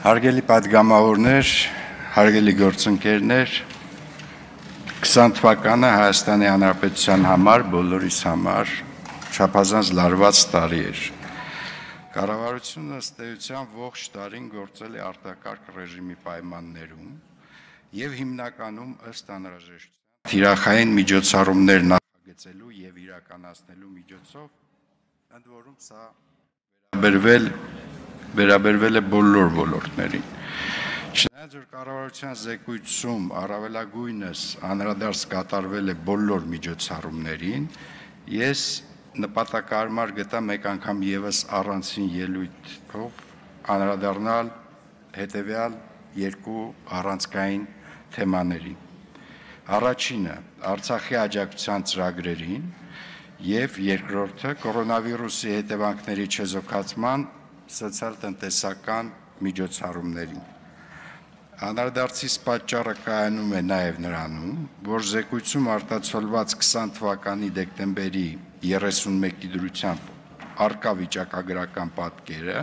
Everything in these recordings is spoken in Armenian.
Հարգելի պատգամավորներ, հարգելի գործընկերներ, 20 թվականը Հայաստանի Հանրապետության համար, բոլորիս համար չափազանց լարված տարի էր։ Կառավարությունը ըստ էության ողջ տարին գործել է արտակարգ ռեժիմի պայմաններում եւ հիմնականում ըստ անհրաժեշտության թիրախային միջոցառումներ նախագծելու եւ իրականացնելու միջոցով, ընդ որում սա վերաբերվել է բոլոր ոլորտներին։ Չնայած որ կառավարության զեկույցում առավելագույնս անդրադարձ կատարվել է բոլոր միջոցառումներին, ես նպատակարար գտա մեկ անգամ եւս առանցին ելույթով անդրադառնալ հետեւյալ երկու առանցքային թեմաներին։ Առաջինը Արցախի աջակցության ծրագրերին եւ երկրորդը կորոնավիրուսի հետևանքների չեզոքացման սոցիալ-տնտեսական միջոցառումներին։ Անդրադարձիս պատճառը կայանում է նաև նրանում, որ զեկույցում արտացոլված 20 թվականի դեկտեմբերի 31-ի դրությամբ արկա վիճակագրական պատկերը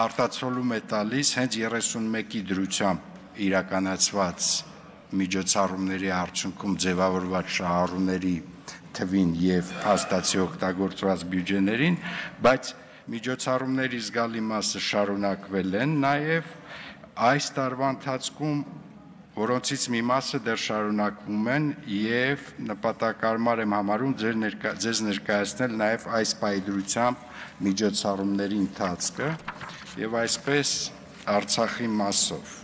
արտացոլում է տալիս հենց 31-ի դրությամբ իրականացված միջոցառումների արդյունքում ձևավորված շահառուների թվին եւ հաստատի օգտագործված բյուջեներին, բայց միջոցառումների զգալի մասը շարունակվել են նաև այս տարվա ընթացքում, որոնցից մի մասը դեռ շարունակվում են եւ նպատակարար եմ համարում ձեզ ներկայացնել նաև այս պայդրությամբ միջոցառումների ընթացքը եւ այսպես Արցախի մասով։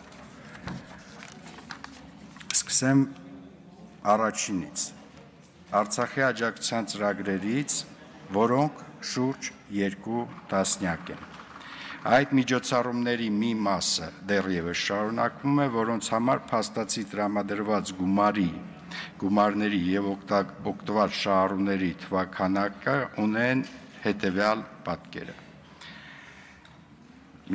Սկսեմ առաջինից։ Արցախի աջակցության ծրագրերից, որոնք շուրջ 2 տասնյակ են։ Այդ միջոցառումների մի մասը դեռևս շարունակվում է, որոնց համար փաստացի տրամադրված գումարների եւ օգտված շահառուների թվաքանակը ունեն հետեւյալ պատկերը։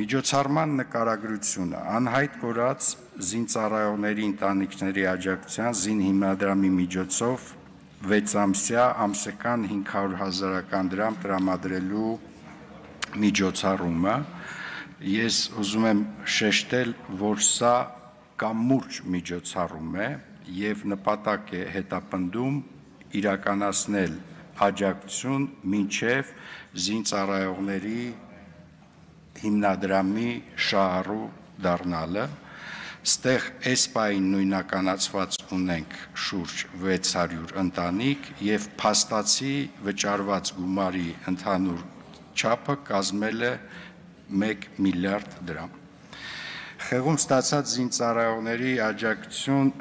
Միջոցառման նկարագրությունը անհայտ կորած զինծառայողների ընտանիքների աջակցության զին հիմնադրամի միջոցով 6 ամսյա ամսական 500,000 դրամ տրամադրելու միջոցառումը, ես ուզում եմ շեշտել, որ սա կամուրջ միջոցառում է եւ նպատակ է հետապնդում իրականացնել աջակցություն մինչեւ զինծառայողների հիմնադրամի շահառու դառնալը։ Ստեղ էսպային նույնականացված ունենք շուրջ 600 ընտանիք եւ փաստացի վճարված գումարի ընդհանուր չափը կազմել է 1 միլիարդ դրամ։ Խեղում ստացած զինծառայողների աջակցություն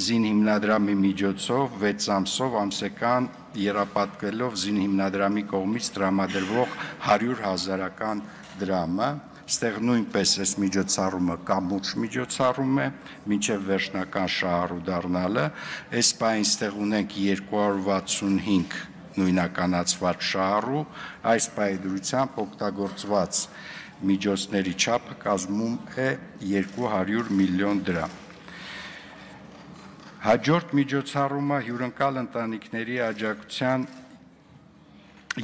զին հիմնադրամի միջոցով 6 ամսով ամսական եռապատկվելով զին հիմնադրամի կողմից տրամադրվող 100,000 դրամը, ստեղ նույնպես այս միջոցառումը կամուրջ միջոցառում է, մինչև վերջնական շահառու դառնալը, այս պահին ստեղ ունենք 265 նույնականացված շահառու, այս պահի դրությամբ օգտագործված միջոցների չափը կազմում է 200 միլիոն դրամ։ Հաջորդ միջոցառումը հյուրընկալ ընտանիքների աջակցության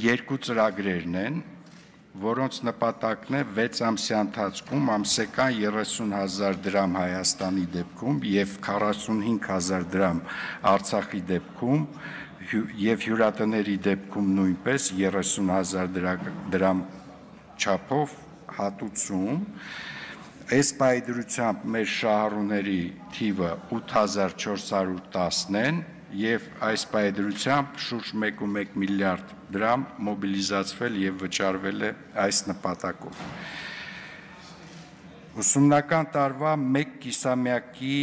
երկու ծրագրերն են, որոնց նպատակն է 6 ամսյա ընթացքում ամսական 30,000 դրամ Հայաստանի դեպքում եւ 45,000 դրամ Արցախի դեպքում եւ հյուրատների դեպքում նույնպես 30,000 դրամ չափով հատուցում։ Այս պայդրությամբ մեր շահառուների թիվը 8410 են եւ այս պայդրությամբ շուրջ 1.1 միլիարդ դրամ մոբիլիզացվել եւ վճարվել է այս նպատակով։ Ուսումնական տարվա 1 կիսամյակի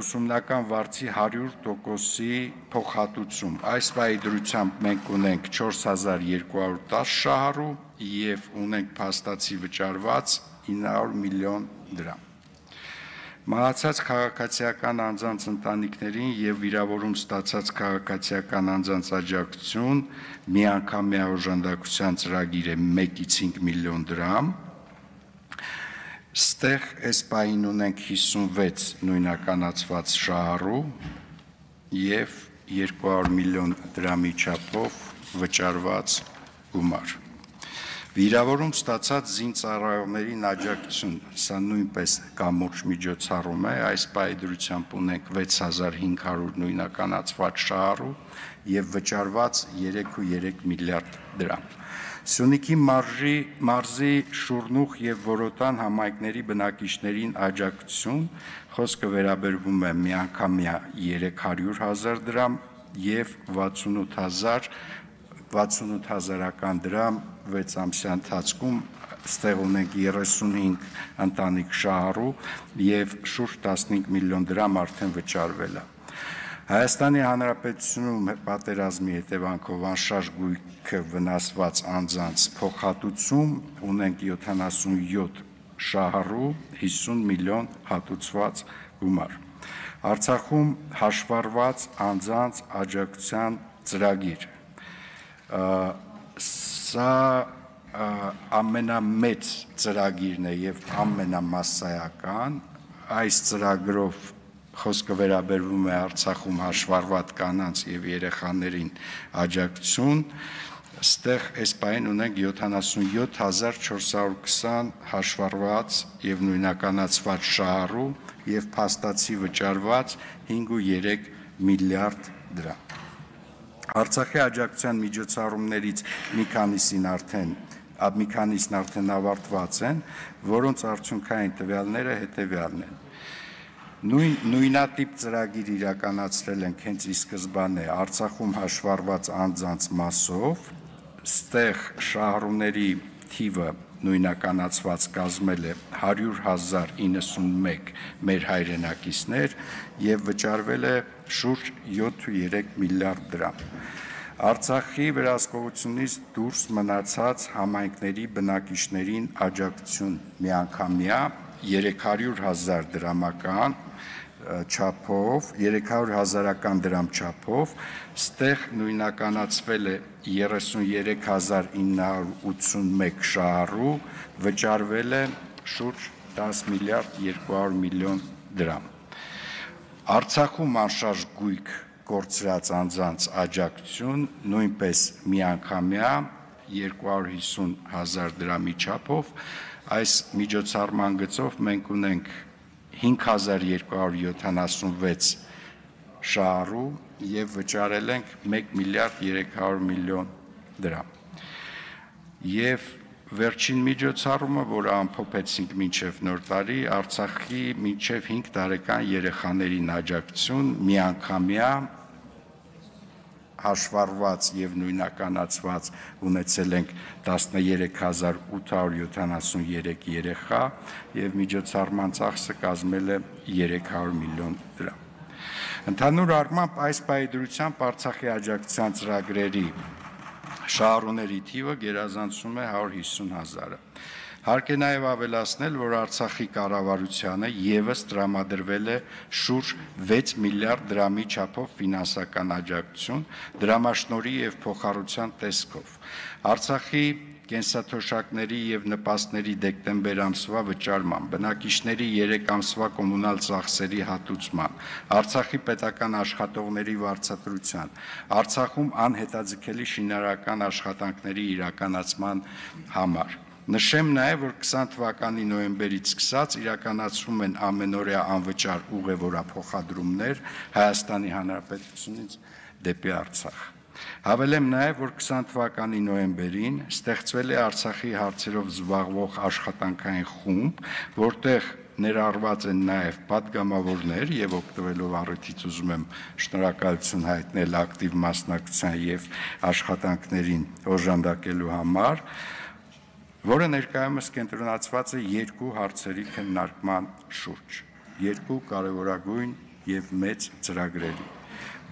ուսումնական վարձի 100%-ի փոխհատուցում։ Այս պայդրությամբ մենք ունենք 4210 շահառու եւ ունենք փաստացի վճարված 900 միլիոն դրամ։ Մահացած քաղաքացիական անձանց ընտանիքներին եւ վիրավորում ստացած քաղաքացիական անձանց աջակցություն միանգամյա օժանդակության ծրագիր է 1-ից 5 միլիոն դրամ։ Ստեղ այս պահին ունենք 56 նույնականացված շահառու եւ 200 միլիոն դրամի չափով վճարված գումար։ Վիրավորում ստացած զինծառայողներին աջակցություն, սա նույնպես կամուրջ միջոցառում է, այս պայդրությամբ ունենք 6500 նույնականացված շահառու և վճարված 3.3 միլիարդ դրամ։ Սյունիքի մարզի Շուրնուխ և Որոտան համայնքների բնակիչներին աջակցություն, խոսքը վերաբերվում է միանգամյա 300.000 դրամ և 68,000 դրամ 6 ամսյա ընթացքում ստեղ ունենք 35 ընտանիք շահառու և շուրջ 15 միլիոն դրամ արդեն վճարվել է։ Հայաստանի Հանրապետությունում պատերազմի հետևանքով անշարժ գույքը վնասված անձանց փոխհատուցում ունենք 77 շահառու 50 միլիոն հատուցված գումար։ Արցախում հաշվառված անձանց աջակցության ծրագիր։ Սա ամենամեծ ծրագիրն է և ամենամասսայական, այս ծրագրով խոսքը վերաբերվում է Արցախում հաշվառված կանանց և երեխաներին աջակցություն, ստեղ այս պահին ունենք 77,420 հաշվառված և նույնականացված շահառու և փաստացի վճարված 5.3 միլիարդ դրամ։ Արցախի աջակցության միջոցառումներից մի քանիսն արդեն ավարտված են, որոնց արդյունքային տվյալները հետևյալն են։ Նույնատիպ ծրագիր իրականացրել ենք հենց ի սկզբանե Արցախում հաշվառված անձանց մասով, ստեղ շահառուների թիվը նույնականացված կազմել է 100,091 մեր հայրենակիցներ և վճարվել է շուրջ 7.3 միլիարդ դրամ։ Արցախի վերահսկողությունից դուրս մնացած համայնքների բնակիչներին աջակցություն միանգամյա 300,000 դրամական չափով, 300,000 դրամ չափով, ստեղ նույնականացվել է 33,981 շահառու, վճարվել է շուրջ 10 միլիարդ 200 միլիոն դրամ։ Արցախում անշարժ գույք կորցրած անձանց աջակցություն նույնպես միանգամյա 250,000 դրամի չափով, այս միջոցառման գծով մենք ունենք 5276 շահառու և վճարել ենք 1 միլիարդ 300 միլիոն դրամ։ Եվ վերջին միջոցառումը, որը ամփոփեցինք մինչև նոր տարի, Արցախի մինչև 5 տարեկան երեխաներին աջակցություն միանգամյա հաշվառված և նույնականացված ունեցել ենք 13,873 երեխա և միջոցառման ծախսը կազմել է 300 միլիոն դրամ։ Ընդհանուր առմամբ այս պայդրությամբ Արցախի աջակցության ծրագրերի շահառուների թիվը գերազանցում է 150,000-ը։ Հարկ է նաև ավելացնել, որ Արցախի կառավարությանը ևս տրամադրվել է շուրջ 6 միլիարդ դրամի չափով ֆինանսական աջակցություն դրամաշնորհի և փոխառության տեսքով։ Արցախի կենսաթոշակների և նպաստների դեկտեմբեր ամսվա վճարման, բնակիչների 3 ամսվա կոմունալ ծախսերի հատուցման, Արցախի պետական աշխատողների վարձատրության, Արցախում անհետաձգելի շինարարական աշխատանքների իրականացման համար։ Նշեմ նաև, որ 20 թվականի նոյեմբերից սկսած իրականացվում են ամենօրյա անվճար ուղևորափոխադրումներ Հայաստանի Հանրապետությունից դեպի Արցախ։ Հավելեմ նաև, որ 20 թվականի նոյեմբերին ստեղծվել է Արցախի հարցերով զբաղվող աշխատանքային խումբ, որտեղ ներառված են նաև պատգամավորներ և օգտվելով առիթից ուզում եմ շնորհակալություն հայտնել ակտիվ մասնակցության և աշխատանքներին օժանդակելու համար, որը ներկայումս կենտրոնացված է երկու հարցերի քննարկման շուրջ, երկու կարևորագույն և մեծ ծրագրերի՝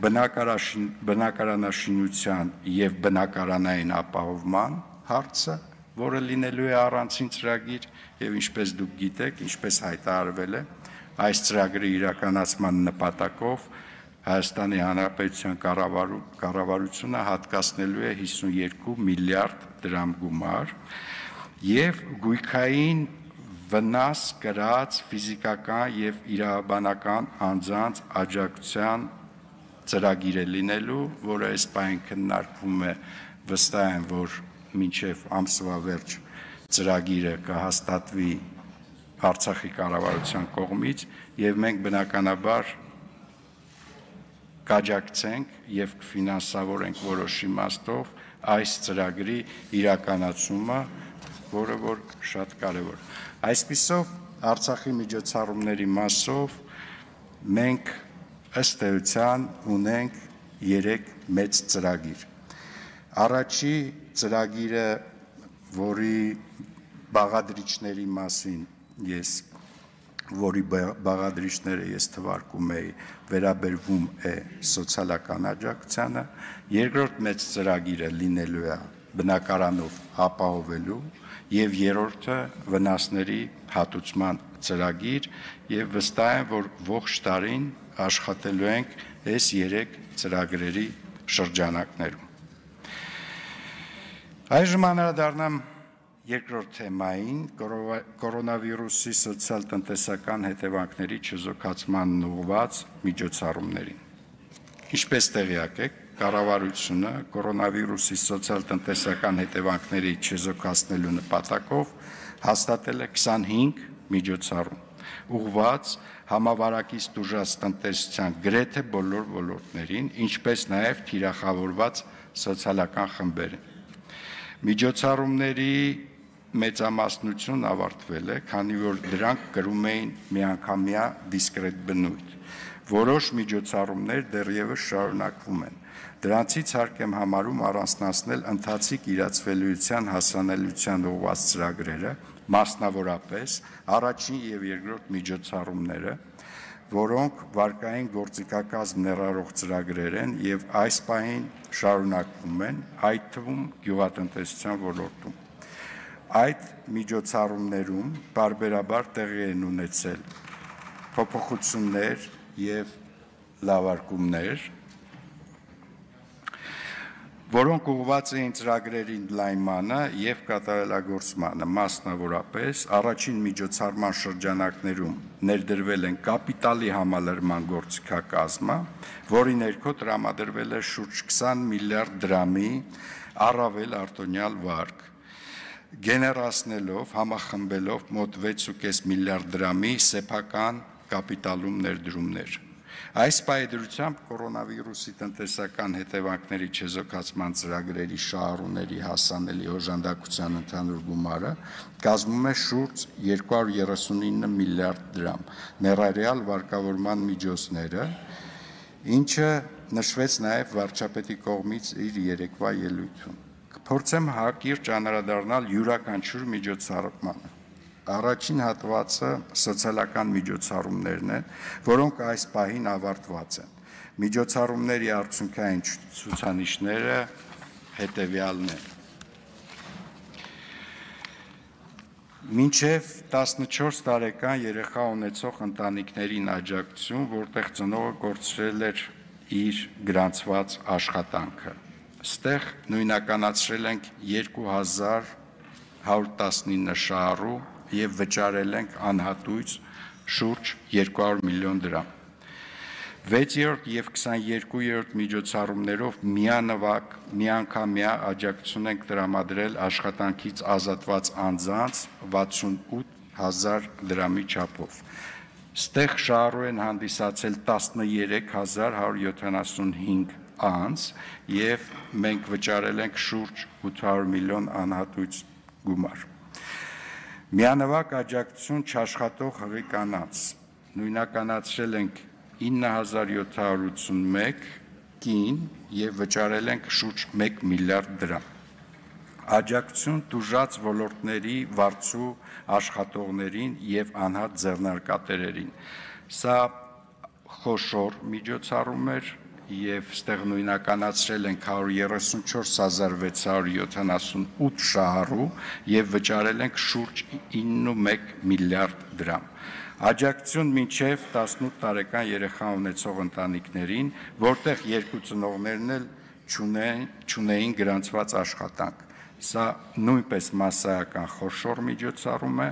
բնակարանաշինության և բնակարանային ապահովման հարցը, որը լինելու է առանցին ծրագիր և ինչպես դուք գիտեք, ինչպես հայտարարվել է, այս ծրագրի իրականացման նպատակով Հայաստանի Հանրապետության կառավարությունը հատկացնելու է 52 միլիարդ դրամ գումար և գույքային վնաս կրած ֆիզիկական և իրավաբանական անձանց աջակցության ծրագիր է լինելու, որը այս պահին քննարկվում է, վստահ եմ, որ մինչև ամսվա վերջ ծրագիրը կհաստատվի Արցախի կառավարության կողմից եւ մենք բնականաբար կաջակցենք եւ կֆինանսավորենք որոշ իմաստով այս ծրագրի իրականացումը, որը որ շատ կարեւոր է։ Այսպիսով Արցախի միջոցառումների մասով մենք ըստ էության ունենք 3 մեծ ծրագիր։ Առաջի ծրագիրը, որի բաղադրիչների մասին որի բաղադրիչները ես թվարկում էի, վերաբերվում է սոցիալական աջակցությանը, երկրորդ մեծ ծրագիրը լինելու է բնակարանով ապահովելու եւ երրորդը վնասների հատուցման ծրագիր եւ վստահ եմ, որ ողջ տարին աշխատելու ենք այս 3 ծրագրերի շրջանակներում։ Այժմ անդրադառնամ երկրորդ թեմային, կորոնավիրուսի սոցիալ-տնտեսական հետևանքների չեզոքացմանն ուղղված միջոցառումներին։ Ինչպես տեղյակ եք, կառավարությունը կորոնավիրուսի սոցիալ-տնտեսական հետևանքների չեզոքացնելու նպատակով հաստատել է 25 միջոցառում, ուղղված համավարակից տուժած տնտեսության գրեթե բոլոր ոլորտներին, ինչպես նաև թիրախավորված սոցիալական խմբերին։ Միջոցառումների մեծամասնությունն ավարտվել է, քանի որ դրանք կրում էին միանգամյա դիսկրետ բնույթ։ Որոշ միջոցառումներ դեռևս շարունակվում են։ Դրանցից հարկ եմ համարում առանձնացնել ընթացիկ իրացվելիության հասանելիության ուղղված ծրագրերը, մասնավորապես առաջին եւ երկրորդ միջոցառումները, որոնք վարկային գործիքակազմ ներառող ծրագրեր են եւ այս պահին շարունակվում են, այդ թվում գյուղատնտեսության ոլորտում։ Այդ միջոցառումներում բարբերաբար տեղի են ունեցել փոփոխություններ եւ լավարկումներ, որոնք ուղղված էին ծրագրերի ընդլայնմանը եւ կատարելագործմանը, մասնավորապես առաջին միջոցառման շրջանակներում ներդրվել են կապիտալի համալրման գործիքակազմը, որի ներքո տրամադրվել է շուրջ 20 միլիարդ դրամի առավել արտոնյալ վարկ, գեներացնելով, համախմբելով մոտ 6.5 միլիարդ դրամի սեփական կապիտալում ներդրումներ։ Այս պայդրությամբ կորոնավիրուսի տնտեսական հետևանքների չեզոքացման ծրագրերի շահառուների հասանելի օժանդակության ընդհանուր գումարը կազմում է շուրջ 239 միլիարդ դրամ, ներառյալ վարկավորման միջոցները, ինչը նշվեց նաև վարչապետի կողմից իր երեկվա ելույթում։ Կփորձեմ հակիրճ անդրադառնալ յուրաքանչյուր միջոցառմանը։ Առաջին հատվածը սոցիալական միջոցառումներն են, որոնք այս պահին ավարտված են։ Միջոցառումների արդյունքային ցուցանիշները հետևյալն են։ Մինչև 14 տարեկան երեխա ունեցող ընտանիքներին աջակցություն, որտեղ ծնողը կորցրել էր իր գրանցված աշխատանքը։ Ստեղ նույնականացրել ենք 2119 շահառու եւ վճարել ենք անհատույց շուրջ 200 միլիոն դրամ։ 6-րդ եւ 22-րդ միջոցառումներով միանվագ միանգամյա աջակցություն ենք տրամադրել աշխատանքից ազատված անձանց 68000 դրամի չափով։ Ստեղ շահառու են հանդիսացել 13175 անձ եւ մենք վճարել ենք շուրջ 800 միլիոն անհատույց գումար։ Միանվագ աջակցություն չաշխատող հղի կանանց նույնականացրել ենք 9781 կին եւ վճարել ենք շուրջ 1 միլիարդ դրամ։ Աջակցություն տուժած ոլորտների վարձու աշխատողներին եւ անհատ ձեռնարկատերերին։ Սա խոշոր միջոցառում էր եւ ստեղ նույնականացրել ենք 134678 շահառու եւ վճարել ենք շուրջ 9.1 միլիարդ դրամ։ Աջակցություն մինչև 18 տարեկան երեխա ունեցող ընտանիքներին, որտեղ երկու ծնողներն էլ չունեին գրանցված աշխատանք։ Սա նույնպես մասսայական խոշոր միջոցառում է,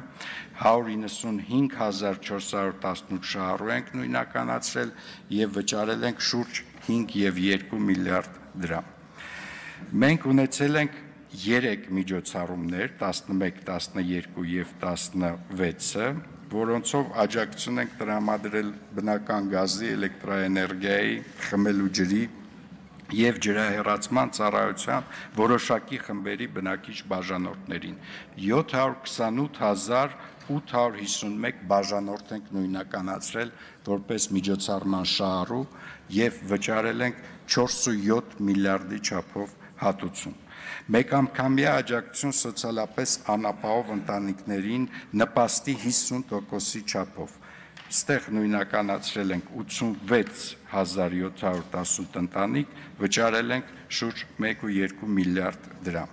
195418 շահառու ենք նույնականացրել եւ վճարել ենք շուրջ 5.2 միլիարդ դրամ։ Մենք ունեցել ենք 3 միջոցառումներ 11, 12 և 16-ը, որոնցով աջակցություն ենք տրամադրել բնական գազի, էլեկտրաէներգիայի, խմելու ջրի և ջրահեռացման ծառայության որոշակի խմբերի բնակիչ բաժանորդներին 728,851 բաժանորդ ենք նույնականացրել որպես միջոցառման շահառու և վճարել ենք 4.7 միլիարդի չափով հատուցում։ Մեկանգամյա աջակցություն սոցիալապես անապահով ընտանիքներին նպաստի 50%-ի չափով։ Ստեղ նույնականացրել ենք 86,718 ընտանիք, վճարել ենք շուրջ 1.2 միլիարդ դրամ։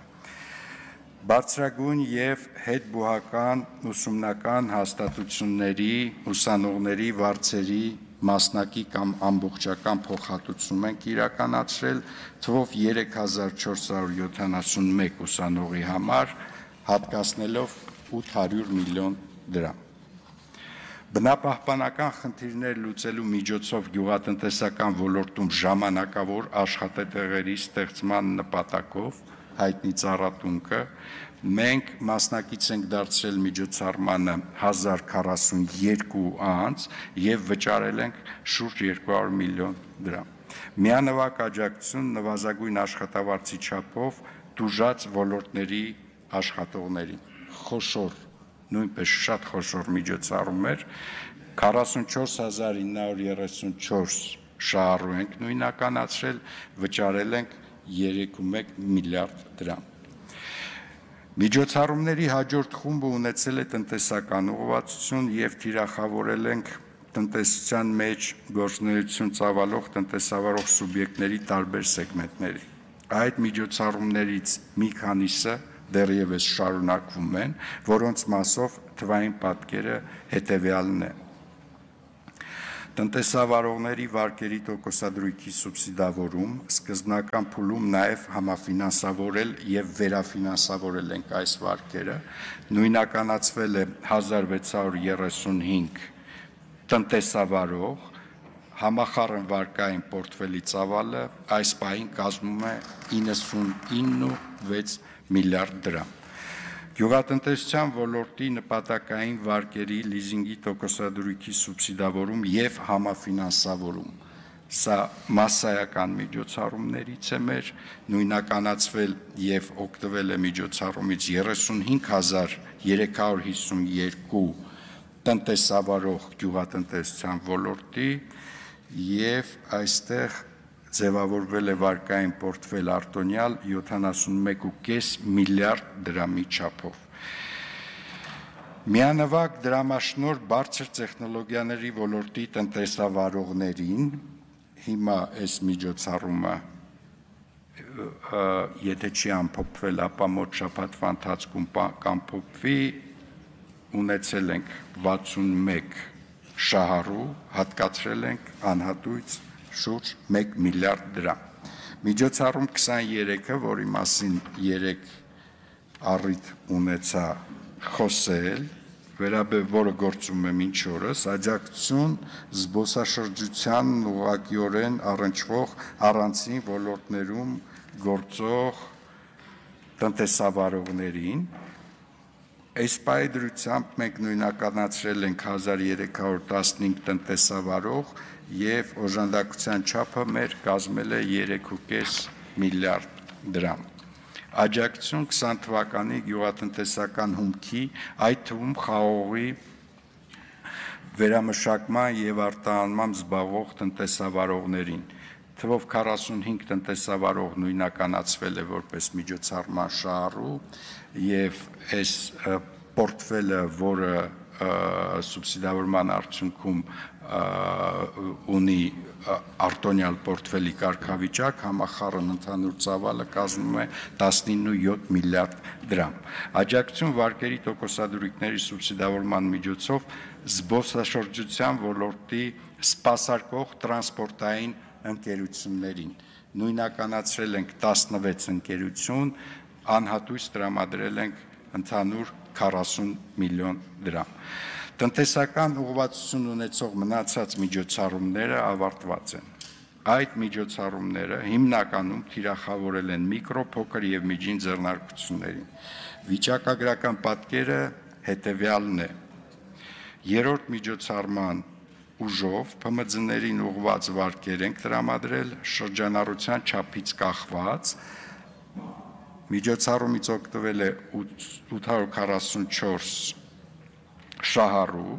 Բարձրագույն և հետբուհական ուսումնական հաստատությունների, ուսանողների վարձերի մասնակի կամ ամբողջական փոխհատուցում ենք իրականացրել թվով 3471 ուսանողի համար, հատկացնելով 800 միլիոն դրամ։ Բնապահպանական խնդիրներ լուծելու միջոցով գյուղատնտեսական ոլորտում ժամանակավոր աշխատատեղերի ստեղծման նպատակով հայտնի ծառատունկը մենք մասնակից ենք դարձրել միջոցառմանը 1042 անձ և վճարել ենք շուրջ 200 միլիոն դրամ։ Միանվագ աջակցություն նվազագույն աշխատավարձի չափով տուժած ոլորտների աշխատողներին։ Խոշոր, նույնպես շատ խոշոր միջոցառում էր, 44,934 շահառու ենք նույնականացրել, վճարել ենք 3.1 միլիարդ դրամ։ Միջոցառումների հաջորդ խումբը ունեցել է տնտեսական ուղղվածություն և թիրախավորել ենք տնտեսության մեջ գործունեություն ծավալող տնտեսավարող սուբյեկտների տարբեր սեգմենտների։ Այդ միջոցառումներից մի քանիսը դեռևս շարունակվում են, որոնց մասով թվային պատկերը հետևյալն է. Տնտեսավարողների վարկերի տոկոսադրույքի սուբսիդավորում, սկզբնական փուլում նաև համաֆինանսավորել և վերաֆինանսավորել ենք այս վարկերը, նույնականացվել է 1635 տնտեսավարող, համախառն վարկային պորտֆելի ծավալը այս պահին կազմում է 99.6 միլիարդ դրամ։ Գյուղատնտեսության ոլորտի նպատակային վարկերի լիզինգի տոկոսադրույքի սուբսիդավորում և համաֆինանսավորում, սա մասսայական միջոցառումներից է մեր, նույնականացվել և օգտվել է միջոցառումից 35,352 տնտեսավարող գյուղատնտեսության ոլորտի և այստեղ ձևավորվել է վարկային պորտֆել արտոնյալ 71.5 միլիարդ դրամի չափով։ Միանվագ դրամաշնորհ բարձր տեխնոլոգիաների ոլորտի տնտեսավարողներին, հիմա այս միջոցառումը եթե չի ամփոփվել, ապա մոտ շաբաթվա ընթացքում կամփոփվի, ունեցել ենք 61 շահառու, հատկացրել ենք անհատույց շուրջ 1 միլիարդ դրամ։ Միջոցառում 23-ը, որի մասին երեք առիթ ունեցա խոսել, որը գործում է մինչ օրս, աջակցություն զբոսաշրջությանն ուղղակիորեն առնչվող առանձին ոլորտներում գործող տնտեսավարողներին, այս պահի դրությամբ մենք նույնականացրել ենք 1315 տնտեսավարող և օժանդակության չափը մեր կազմել է 3.5 միլիարդ դրամ։ Աջակցություն 20 թվականի գյուղատնտեսական հումքի, այդ թվում խաղողի վերամշակման և արտահանմամբ զբաղվող տնտեսավարողներին, թվով 45 տնտեսավարող նույնականացվել է որպես միջոցառման շահառու և այս պորտֆելը, որը սուբսիդավորման արդյունքում ունի արտոնյալ պորտֆելի կարգավիճակ, համախառն ընդհանուր ծավալը կազմում է 19.7 միլիարդ դրամ։ Աջակցություն վարկերի տոկոսադրույքների սուբսիդավորման միջոցով զբոսաշրջության ոլորտի սպասարկող տրանսպորտային ընկերություններին, նույնականացրել ենք 16 ընկերություն, անհատույց տրամադրել ենք ընդհանուր 40 միլիոն դրամ։ Տնտեսական ուղղվածություն ունեցող մնացած միջոցառումները ավարտված են։ Այդ միջոցառումները հիմնականում թիրախավորել են միկրո, փոքր եւ միջին ձեռնարկություններին։ Վիճակագրական պատկերը հետևյալն է. երրորդ միջոցառման ուժով ՓՄԶ-ներին ուղղված վարկեր ենք տրամադրել շրջանառության չափից կախված։ Միջոցառումից օգտվել է 844 շահառու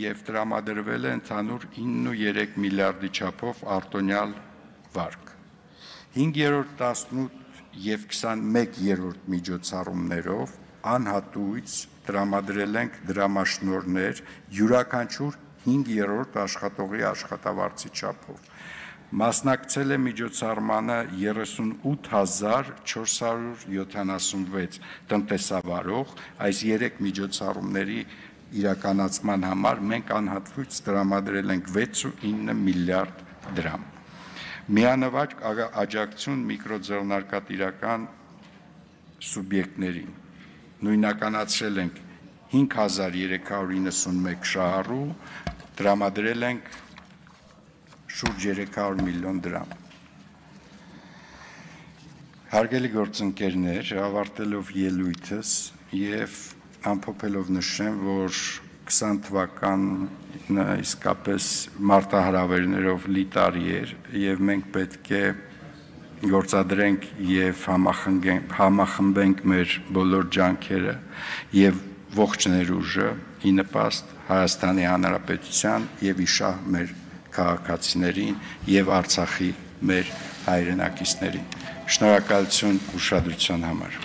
եւ տրամադրվել է ընդհանուր 9.3 միլիարդի չափով արտոնյալ վարկ։ 5-րդ, 18 եւ 21-րդ միջոցառումներով անհատույց տրամադրել ենք դրամաշնորհներ յուրաքանչյուր 5-րդ աշխատողի աշխատավարձի չափով։ Մասնակցել է միջոցառմանը 38476 տնտեսավարող, այս 3 միջոցառումների իրականացման համար մենք անհատույց տրամադրել ենք 6.9 միլիարդ դրամ։ Միանվագ աջակցություն միկրոձեռնարկատիրական սուբյեկտներին նույնականացրել ենք 5391 շահառու, տրամադրել ենք շուրջ 300 միլիոն դրամ։ Հարգելի գործընկերներ, ավարտելով ելույթս եւ ամփոփելով նշեմ, որ 20 թվականը իսկապես մարտահրավերներով լի տարի էր եւ մենք պետք է գործադրենք եւ համախմբենք մեր բոլոր ջանքերը եւ ողջ ներուժը ի նպաստ Հայաստանի Հանրապետության եւ իշահ մեր քաղաքացիներին եւ Արցախի մեր հայրենակիցներին։ Շնորհակալություն ուշադրության համար։